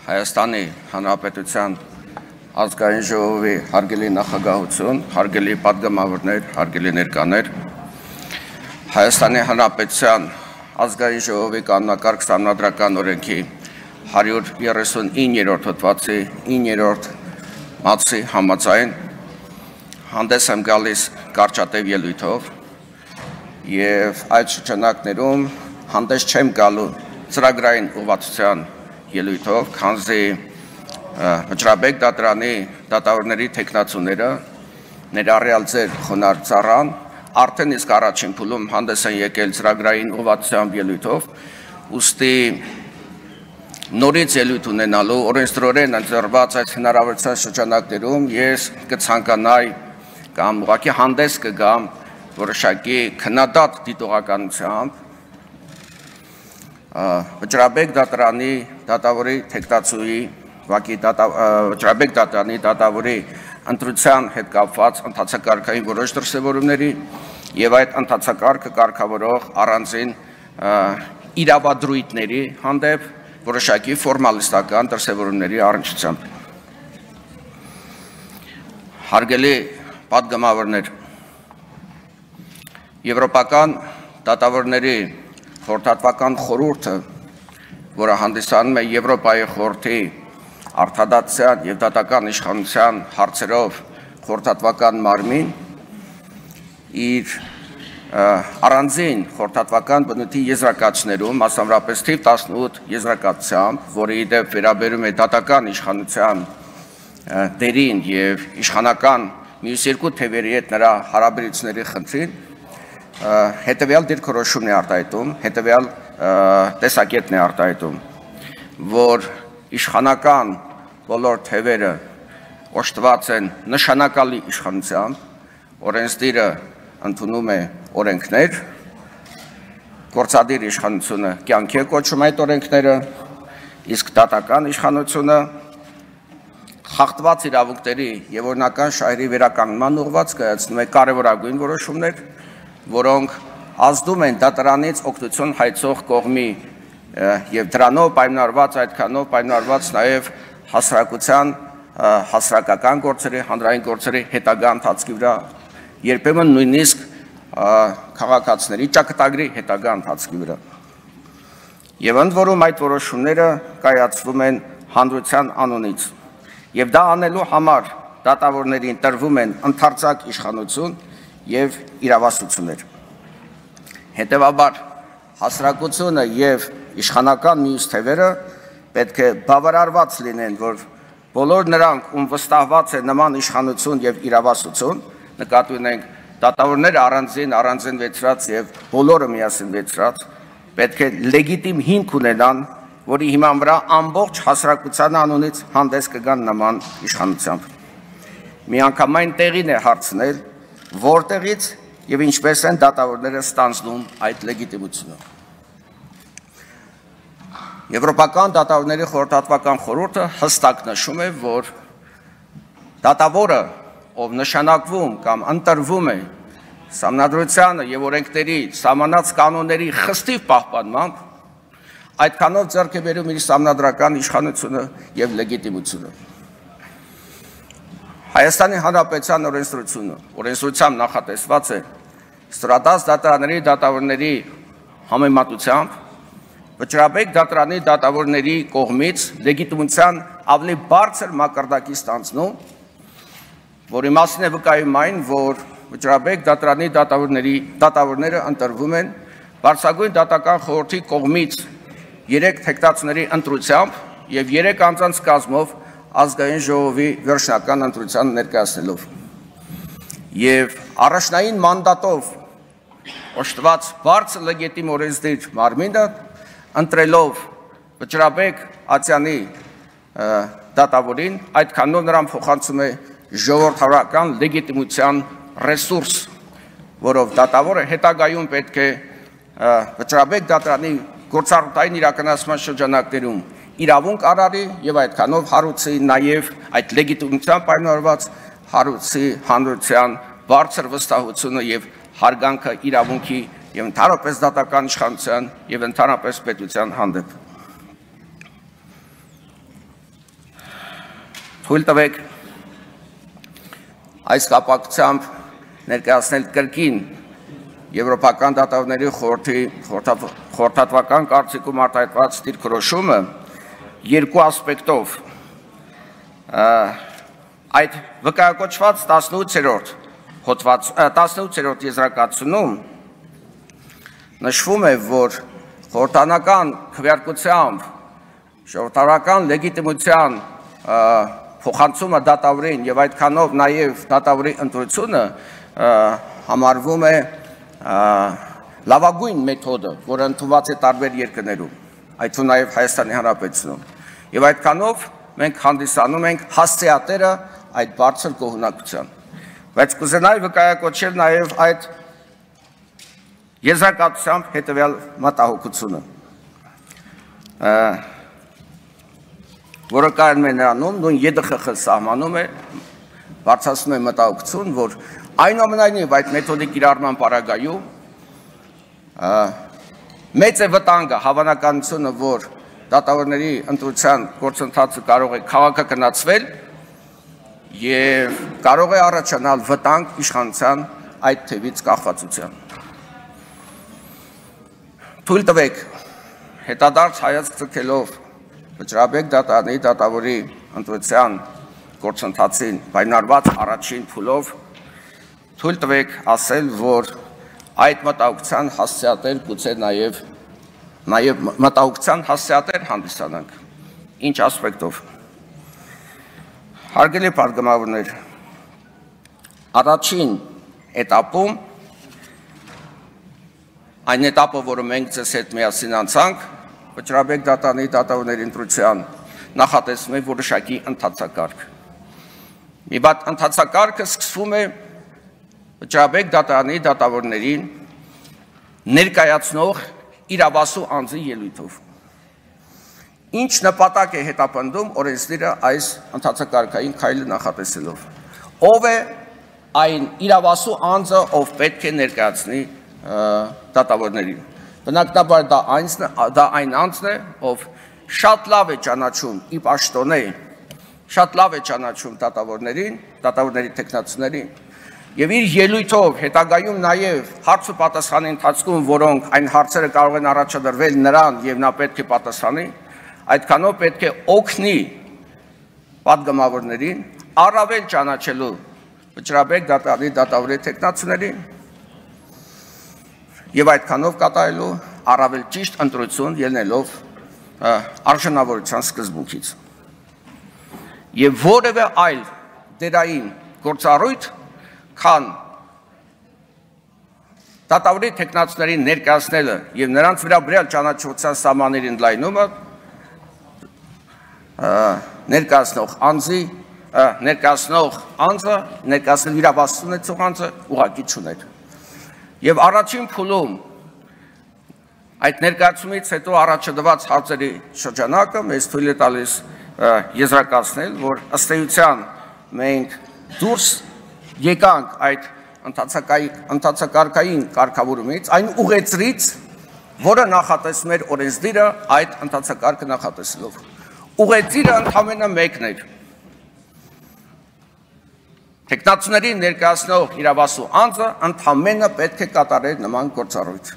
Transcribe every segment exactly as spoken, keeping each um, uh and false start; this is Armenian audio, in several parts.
Հայաստանի Հանրապետության ազգային ժողովի հարգելի նախագահություն, հարգելի պատգամավորներ, հարգելի ներկաներ, Հայաստանի Հանրապետության ազգային ժողովի կանոնակարգ սահմանադրական օրենքի հարյուր երեսունիններորդ հոդվածի իններորդ մատչելի համաձայն հանդես եմ գալիս կարճատև ելույթով եւ այդ շրջանակներում հանդես չեմ գալու ծրագրային ուղղվածության ելույթով, քանզի Վճռաբեկ դատարանի դատավորների թեկնածուները ներառյալ ձեր խոնարհ ծառան արդեն իսկ առաջին փուլում հանդես են եկել ծրագրային ուղղվածության ելույթով, ուստի նորից ելույթ ունենալու օրենսդրորեն ընձեռված այս հնարավորության շրջանակներում ես կցանկանայի կամ ուղղակի հանդես կգամ որոշակի քննադատ դիտողականությամբ Վճռաբեկ դատարանի դատավորի թեկնածուի Վակի Վճռաբեկ դատարանի դատավորի ընտրության հետ կապված ընթացակարգային որոշ դրսևորումների եւ այդ ընթացակարգը կարգավորող առանձին իրավադրույթների հանդեպ որոշակի ֆորմալիստական դրսևորումների առնչությամբ Հարգելի պատգամավորներ Եվրոպական դատավորների խորհրդատվական խորհուրդը, որը հանդիսանում է Եվրոպայի խորհրդի արդարադատության եւ դատական իշխանության հարցերով խորհրդատվական մարմին, իր առանձին խորհրդատվական բնույթի եզրակացներում, մասնավորապես թիվ տասնութ եզրակացությամբ, որը ի դեպ վերաբերում է դատական իշխանության դերին եւ իշխանական մյուս երկու թևերի հետ նրա հարաբերությունների խնդրին, հետևյալ դիրքորոշումն է արտահայտում, հետևյալ տեսակետն է արտահայտում, որ իշխանական բոլոր թևերը օժտված են նշանակալի իշխանությամբ, օրենսդիրը ընդունում է օրենքներ, գործադիր իշխանությունը կյանքի է կոչում այդ օրենքները, իսկ դատական իշխանությունը խախտված իրավունքների եւ օրինական շահերի վերականգնման ուղղված կայացնում է կարևորագույն որոշումներ, որոնք ազդում են դատարանից օգնություն հայցող կողմի եւ դրանով պայմանավորված այդքանով պայմանավորված նաեւ հասարակության հասարակական գործերի, հանրային գործերի հետագա ընթացքի վրա, երբեմն նույնիսկ քաղաքացիների ճակատագրի հետագա ընթացքի վրա։ Եվ ընդ որում այդ որոշումները կայացվում են հանրության անունից։ Եվ դա անելու համար դատավորներին տրվում են ընդարձակ իշխանություն եւ իրավասություններ։ Հետևաբար հասարակությունը եւ իշխանական մյուս թևերը պետք է բավարարված լինեն, որ բոլոր նրանք, ում վստահված է նման իշխանություն եւ իրավասություն, նկատի ունենք դատավորները առանձին առանձին վեցրած եւ բոլորը միասին վեցրած, պետք է լեգիտիմ հիմք ունենան, որի հիման վրա ամբողջ հասարակության անունից հանդես կգան նման իշխանությամբ։ Միանգամայն տեղին է հարցնել որտեղից եւ ինչպես են դատավորները ստանձնում այդ լեգիտիմությունը։ Եվրոպական դատավորների խորհրդատվական խորհուրդը հստակ նշում է, որ դատավորը, ով նշանակվում կամ ընտրվում է սահմանադրությանը եւ օրենքների սահմանած կանոնների խստիվ պահպանմամբ, այդքանով ձեռք է բերում իր սահմանադրական իշխանությունը եւ լեգիտիմությունը։ Հայաստանի Հանրապետության օրենսդրությունը օրենսդրությամբ նախատեսված է ստորադաս դատարանների դատավորների համեմատությամբ Վճռաբեկ դատարանի դատավորների կողմից լեգիտիմության ավելի բարձր մակարդակի ստանձնում, որի մասին է վկայում այն, որ Վճռաբեկ դատարանի դատավորների դատավորները ընտրվում են բարձրագույն դատական խորհրդի կողմից երեք թեկնածուների ընտրությամբ եւ երեք անձանց կազմով ազգային ժողովի վերջնական ընտրության ներկայացնելով եւ առաջնային մանդատով օժտված բարձր լեգիտիմ օրենսդիր մարմինը ընտրելով Վճռաբեկ Ացյանի դատավորին այդքանով նրան փոխանցում է ժողովրդական լեգիտիմության ռեսուրս, որով դատավորը հետագայում պետք է Վճռաբեկ դատարանի գործառույթային իրականացման շրջանակներում իրավունք արարի եւ այդքանով հարուցի նաեւ այդ լեգիտիմության պայմանավորված հարուցի հանրության բարձր վստահությունը եւ հարգանքը իրավունքի եւ ընդհանրապես դատական իշխանության եւ ընդհանրապես պետության հանդեպ։ թույլ տվեք այս կապակցությամբ ներկայացնել կրկին Եվրոպական դատավորների խորհրդի խորհրդատվական կարծիքում արտահայտված դիրքորոշումը երկու ասպեկտով այդ վկայակոչված տասնութերորդ հոդված տասնութերորդ եզրակացությունում նշվում է, որ խորհրդանական քվեարկությամբ ժողովրդական լեգիտիմության փոխանցումը դատավորին եւ այդքանով նաեւ դատավորի ընտրությունը համարվում է լավագույն մեթոդը, որը ընդունված է տարբեր երկրներում, այդ թվում նաեւ Հայաստանի Հանրապետությունում։ Եվ այդքանով մենք հանդիսանում ենք հասցեատերը այդ բարձր գոհունակության։ Բայց կուզենայի վկայակոչել նաեւ այդ եզրակացությամբ հետեւյալ մտահոգությունը, որը կայանում է նրանում, նույն ԵԴԽԽ սահմանում է, բարձրացնում է մտահոգություն, որ այնուամենայնիվ այդ մեթոդի կիրառման պարագայում մեծ է վտանգը, հավանականությունը, որ դատավորների ընտրության գործընթացը կարող է քաղաքականացվել եւ կարող է առաջանալ վտանգ իշխանության այդ թևից կախվածության։ Թույլ տվեք հետադարձ հայացք ձգելով Վճռաբեկ դատարանի դատավորի ընտրության գործընթացին պայմանավորված առաջին փուլով թույլ տվեք ասել, որ այդ մտահոգության հասցեատեր գուցե նաև նաև մտահոգության հասցեատեր հանդիսանանք։ Ինչ ասպեկտով։ Հարգելի պատգամավորներ, առաջին էտապում այն էտապը, որը մենք ձեզ հետ միասին անցանք, Վճռաբեկ դատարանի դատավորների ընտրության նախատեսվում է որոշակի ընթացակարգ։ Մի բան ընթացակարգը սկսվում է Վճռաբեկ դատարանի դատավորներին ներկայացնող իրավասու անձի ելույթով։ Ինչ նպատակ է հետապնդում օրենսդիրը այս ընթացակարգային քայլը նախատեսելով։ Ով է այն իրավասու անձը, ով պետք է ներկայացնի դատավորներին։ Բնականաբար դա դա այն անձն է, ով շատ լավ է ճանաչում ի պաշտոնե, շատ լավ է ճանաչում դատավորներին, դատավորների տեխնացուներին, եւ իր ելույթով հետագայում նաեւ հարց ու պատասխանի ընթացքում, որոնք այն հարցերը կարող են առաջադրվել նրան եւ նա պետք է պատասխանի, այդքանով պետք է օգնի պատգամավորներին առավել ճանաչելու Վճռաբեկ դատարանի դատավորի տեխնացուներին եւ այդքանով կատարելու առավել ճիշտ ընտրություն ելնելով արժանավորության սկզբունքից։ Եվ որևէ այլ դերային գործառույթ, քան դատավորի տեխնացուներին ներկայացնելը եւ նրանց վերաբերյալ ճանաչության սահմանների ընդլայնումը ներկայացնող անձի ներկայացնող անձը ներկայացնել իրավասու ունեցող անձը ուղղակի չուներ։ Եվ առաջին փուլում այդ ներկայացումից հետո առաջադրված հարցերի շրջանակը մեզ թույլ է տալիս եզրակացնել, որ ըստ էության մենք դուրս եկանք այդ ընթացակարգային կարգավորումից, այն ուղեցրից, որը նախատեսում էր օրենսդիրը այդ ընթացակարգը նախատեսելով։ Ուղեցիրը ընդամենը մեկն էր։ Տեխնացուների ներկայացնող իրավասու անձը ընդամենը պետք է կատարեր նման գործառույթ։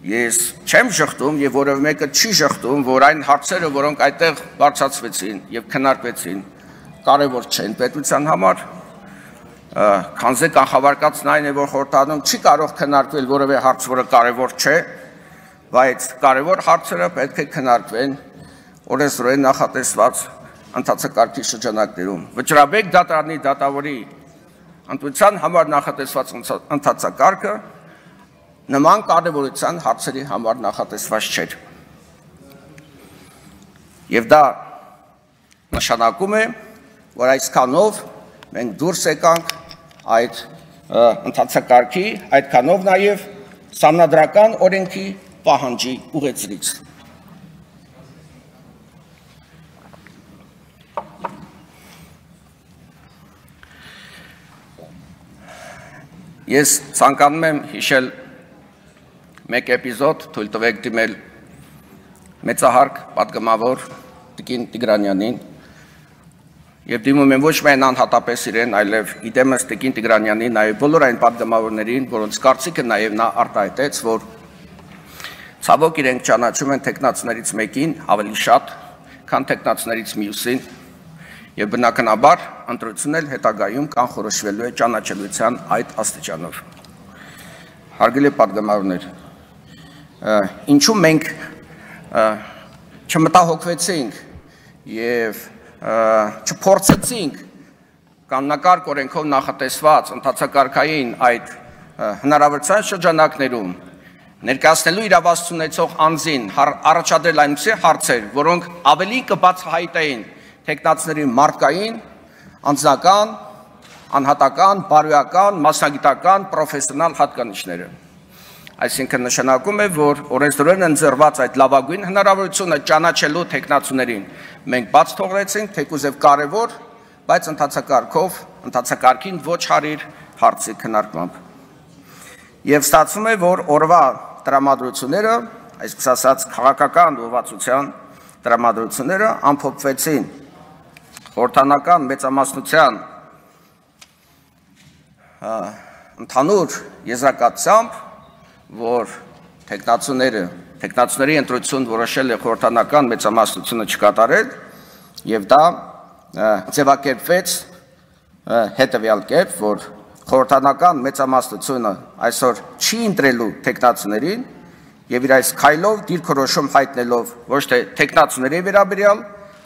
Ես չեմ շղթում եւ որևէ մեկը չի շղթում, որ այն հարցերը, որոնք այդտեղ բարձրացվեցին եւ քննարկվեցին, կարեւոր չեն պետության համար, քանզի կանխավարկածն այն է, որ խորհրդարանում չի կարող քննարկվել որևէ հարց, որը կարեւոր չէ, բայց կարեւոր հարցերը պետք է քննարկվեն օրենսդրորեն նախատեսված ընթացակարգի շրջանակներում։ Վճռաբեկ դատարանի դատավորի ընտրության համար նախատեսված ընթացակարգը նման կարևորության հարցերի համար նախատեսված չէր։ Եվ դա նշանակում է, որ այսքանով մենք դուրս եկանք այդ ընթացակարգի, այդքանով նաև սահմանադրական օրենքի պահանջի ուղեցրից։ Ես ցանկանում եմ հիշել մեկ էպիզոդ, թույլ տվեք դիմել մեծահարկ պատգամավոր Տիկին Տիգրանյանին, Եվ դիմում եմ ոչ միայն անհատապես իրեն, այլև իդեմս Տիկին Տիգրանյանին, նաև բոլոր այն պատգամավորներին, որոնց կարծիքը նաև նա արտահայտեց, որ ցավոք իրենք ճանաչում են տեխնացուներից մեկին ավելի շատ, քան տեխնացուներից մյուսին, եւ բնականաբար ընտրությունն էլ հետագայում կանխորոշվելու է ճանաչելիության այդ աստիճանով։ Հարգելի պատգամավորներ, ինչու մենք չմտահոգվեցինք եւ չփորձեցինք կանոնակարգ օրենքով նախատեսված ընթացակարգային այդ հնարավորության շրջանակներում ներկայացնելու իրավասություն ունեցող անձին առաջադրել այնպիսի հարցեր, որոնք ավելի կբացահայտեին տեխնացուների մարդկային, անձնական, անհատական, բարոյական, մասնագիտական, պրոֆեսիոնալ հատկանիշները։ Այսինքն նշանակում է, որ օրենսդրորեն ընձեռված այդ լավագույն հնարավորությունը ճանաչելու տեխնացուներին մենք բաց թողնեցինք, թեկուզ եւ կարևոր, բայց ընթացակարգով, ընթացակարգին ոչ հարիր հարցի քննարկմամբ։ Եվ ստացվում է, որ օրվա տրամադրությունները, այսպես ասած քաղաքական ուղղվածության տրամադրությունները ամփոփվեցին խորհրդանական մեծամասնության ընդհանուր եզրակացությամբ, որ տեխնացուները, տեխնացուների ընտրություն որոշել է խորհրդանական մեծամասնությունը չկատարել, եւ դա ձևակերպվեց հետեւյալ կերպ, որ խորհրդանական մեծամասնությունը այսօր չի ընտրելու տեխնացուներին եւ իր այս քայլով դիրքորոշում հայտնելով ոչ թե տեխնացուների վերաբերյալ,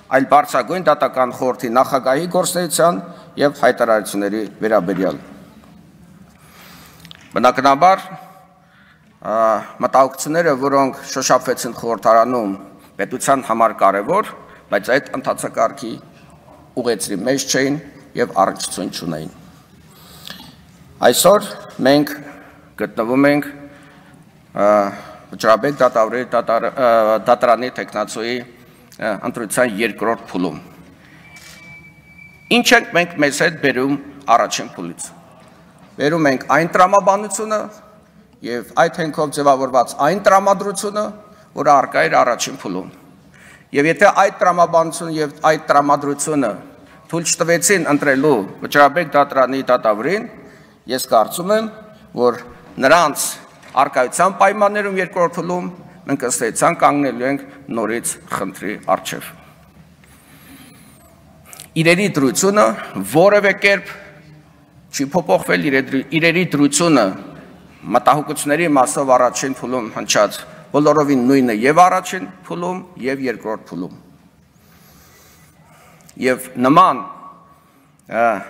այլ բարձրագույն դատական խորհրդի նախագահի գործունեության եւ հայտարարությունների վերաբերյալ։ Բնականաբար մտահոգությունները, որոնք շոշափվեցին խորհրդարանում, պետության համար կարևոր, բայց այդ ընթացակարգի ուղեցրի մեջ չէին եւ առնչություն չունեին։ Այսօր մենք գտնվում ենք Վճռաբեկ դատավորի դատարանի տեխնացուի ընտրության երկրորդ փուլում։ Ինչ ենք մենք մեզ հետ բերում առաջին փուլից։ Բերում ենք այն տրամաբանությունը եւ այդ հենքով ձևավորված այն տրամադրությունը, որը առկա էր առաջին փուլում։ Եվ եթե այդ տրամաբանությունը եւ այդ տրամադրությունը թույլ չտվեցին ընտրելու Վճռաբեկ դատարանի դատավորին, ես կարծում եմ, որ նրանց արկայության պայմաններում երկրորդ փուլում մենք ըստ էության կանգնելու ենք նորից խնդրի առջև։ Իրերի դրությունը որևէ կերպ չի փոփոխվել, իրերի դրությունը մտահոգությունների մասով առաջին փուլում հնչած բոլորովին նույնը եւ առաջին փուլում եւ երկրորդ փուլում։ Եվ նման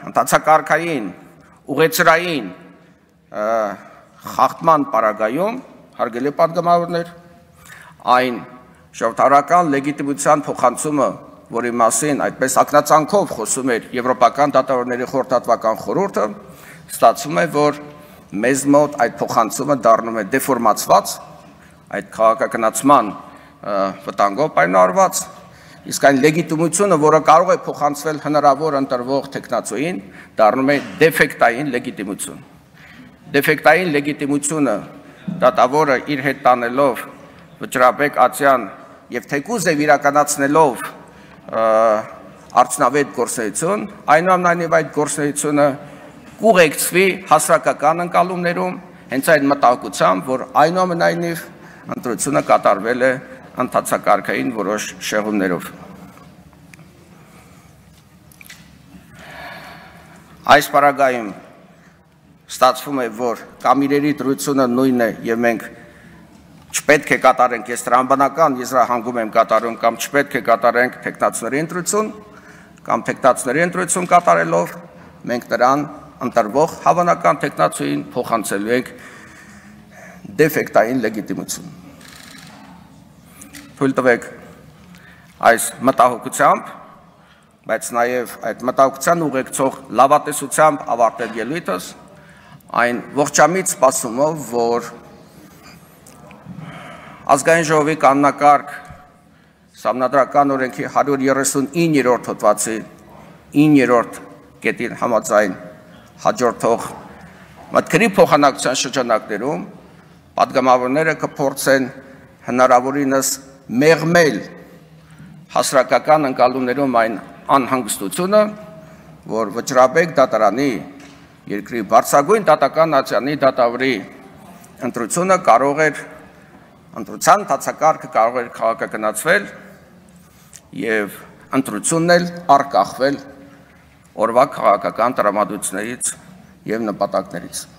ընթացակարգային ուղեցրային խախտման պարագայում, հարգելի պատգամավորներ, այն ժողովրդական լեգիտիմության փոխանցումը, որի մասին այդպես ակնածանքով խոսում էր Եվրոպական դատավորների խորհրդատվական խորհուրդը, ստացվում է, որ մեզ մոտ այդ փոխանցումը դառնում է դեֆորմացված, այդ քաղաքականացման վտանգով պայմանավորված, իսկ այն լեգիտիմությունը, որը կարող է փոխանցվել հնարավոր ընտրվող տեխնացուին, դառնում է դեֆեկտային լեգիտիմություն։ Դեֆեկտային լեգիտիմությունը դատավորը իր հետ տանելով Վճռաբեկ ացյան եւ թեկուզ եւ իրականացնելով արդյունավետ գործունեություն, այնուամենայնիվ այդ գործունեությունը կուղեկցվի հասարակական ընկալումներում, հենց այն մտահոգությամբ, որ այնուամենայնիվ ընտրությունը կատարվել է ընթացակարգային որոշ շեղումներով։ Այս պարագայում ստացվում է, որ կամ իրերի դրությունը նույնն է եւ մենք չպետք է կատարենք, ես տրամաբանական եզրահանգում եմ կատարում, կամ չպետք է կատարենք տեխնացուների ընտրություն, կամ տեխնացուների ընտրություն կատարելով մենք նրան ընտրվող հավանական տեխնացուին փոխանցելու ենք դեֆեկտային լեգիտիմություն։ Թույլ տվեք այս մտահոգությամբ, բայց նաեւ այդ մտահոգության ուղեկցող լավատեսությամբ ավարտել ելույթս այն ողջամիտ սպասումով, որ Ազգային ժողովի կանոնակարգ Սահմանադրական օրենքի հարյուր երեսունիններորդ հոդվածի իններորդ կետին համաձայն հաջորդող մտքերի փոխանակության շրջանակներում պատգամավորները կփորձեն հնարավորինս մեղմել հասարակական ընկալումներում այն անհանգստությունը, որ Վճռաբեկ դատարանի երկրի բարձրագույն դատական ատյանի դատավորի ընտրությունը կարող էր ընտրության ընթացակարգը կարող էր քաղաքականացվել եւ ընտրությունն էլ արկախվել օրվա քաղաքական տրամադրություններից եւ նպատակներից։